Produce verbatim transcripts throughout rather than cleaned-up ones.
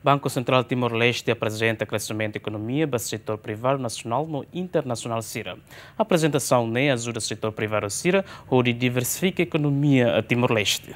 Banku Sentrál Timor-Leste aprezenta kreximentu ekonomia ba setór privadu nasionál no internasionál sira. Aprezentasaun ne'e ajuda setór privadu sira hodi diversifika ekonomia Timor-Leste.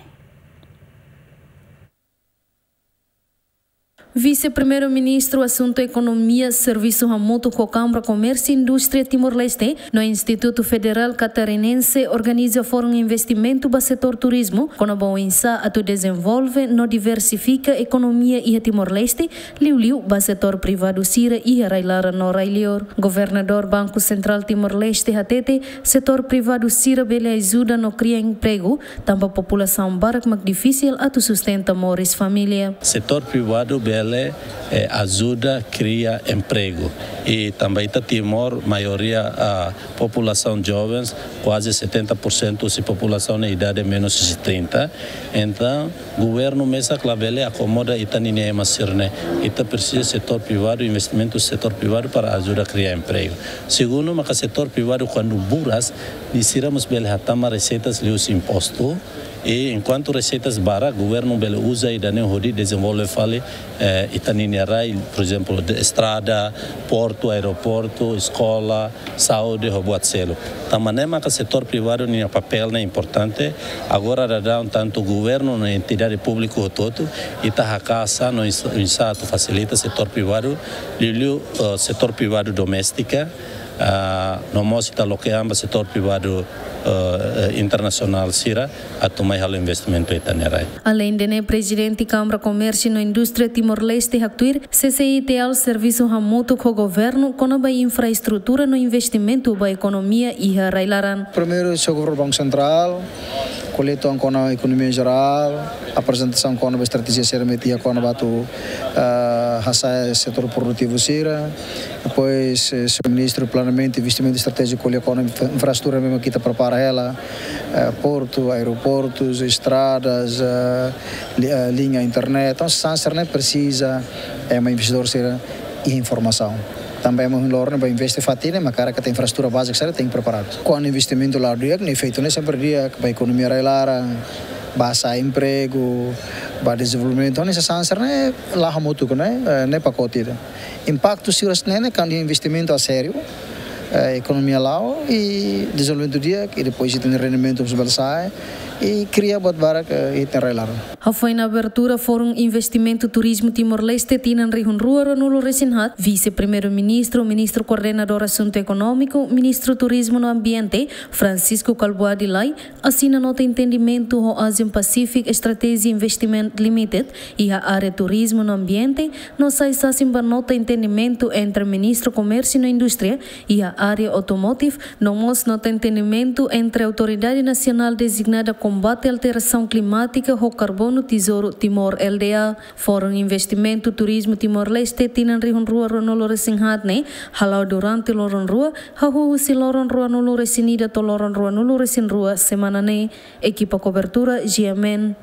Vise-Primeiru-Ministru Asuntu Ekonomia, Servisu hamutuk ho Kámara Komérsiu i Indústria Timor-Leste no Institutu Federál Katarinense organiza Fórum Investimentu ba setór turizmu, kona-ba oinsá atu dezenvolve no diversifika ekonomia iha Timor-Leste, liuliu ba setór privadu sira iha rai-laran no rai-liur. Governadór Banku Sentrál Timor-Leste hatete, setór privadu sira bele ajuda no kria empregu, tanba populasaun barak mak difisil atu sustenta moris família. Setór privadu bele, eh, ajuda kria empregu. I tanba ita Timor, maioria, ah, populasaun jovens, kuaze setenta por sentu husi populasaun ne'e idade menus husi trinta. Entaun, governu mesak labele akomoda ita-nia ema sira-ne'e. Ita presiza setór privadu, investimentu setór privadu para ajuda kria empregu. Segundu, maka setór privadu kuandu buras, nia sira mós bele hatama reseitas liuhusi impostu. I enkuantu reseitas barak, governu bele uza ida-ne'e hodi dezenvolve fali, eh, ita-nia rai, por ezemplu, de estrada, portu, aeroportu, eskola, saúde, ho buat seluk. Tanba ne'e maka setór privadu nia papél ne'e importante. Agora daudaun tantu governu no entidade públiku hotu-hotu, ita haka'as no oinsá, oinsá atu fasilita setór privadu, liuliu, eh, setór privadu doméstika, ah, no mós ita loke an ba setór privadu, eh, eh, internasionál sira atu mai halo investimentu iha ita-nia rai. Aleinde ne'e, Prezidente Kámara Komérsiu no Indústria Timor-Leste haktuir, CCI-T L servisu hamutuk ho governu kona-ba infraestrutura no investimentu ba ekonomia iha rai-laran. Primeiru, señór Governadór Banku Sentrál, ko'alia uitoan kona ekonomia jerál, aprezentasaun kona-ba estratéjia sira-ne'ebé iha kona-ba atu, eh, hasa'e setór produtivu sira. Depois, eh, señór Ministru Planeamentu i Investimentu Estratéjiku ko'alia kona-ba infra-, infraestrutura ne'ebé mak ita prepara hela, eh, portu, aeroportus, estradas, eh, li-, eh, liña internet. Entaun, hanesan sira-ne'e presiza, eh, ema investidór sira iha informasaun. Tanba ema ohin loron ne'e ba investe fatin ne'e, maka karik infraestrutura bázika sira tenke preparadu. Kuandu investimentu la'o di'ak, ne'e efeitu ne'e sempre di'ak ba ekonomia rai-laran, ba hasa'e empregu, ba dezenvolvimentu. Entaun, hanesan sira-ne'e la'o hamutuk, ne'e, eh, ne'e pakote ida. Impaktu sira-ne'e, ne'e, kuandu investimentu a sériu, eh, ekonomia la'o i dezenvolvimentu di'ak, i depois ita-nia rendimentu mós bele sa'e, i kria buat barak, eh, iha ita-nia rai-laran. Hafoin abertura Fórum Investimentu Turizmu Timor-Leste tinan rihun rua ruanulu-resin-haat, Vise-Primeiru-Ministru, Ministru Koordenadór Asuntu Ekonómiku, Ministru Turizmu no Ambiente, Francisco Kalbuadi Lay, asina nota entendimentu ho Asian Pacific Strategy Investment Limited iha área turizmu no ambiente, no sai sasin ba nota entendimentu entre Ministru Komérsiu no Indústria iha área automotive, no mós nota entendimentu entre Autoridade Nasionál Dezignada Kombate Alterasaun Klimátika ho Karbonu Tesouru Timor, L D A. Fórum Investimentu Turizmu Timor-Leste tinan rihun rua ruanulu-resin-haat ne'e hala'o durante loron rua, hahú husi loron ruanulu-resin-ida to'o loron ruanulu-resin-rua semana ne'e. Ekipa kobertura, G M N.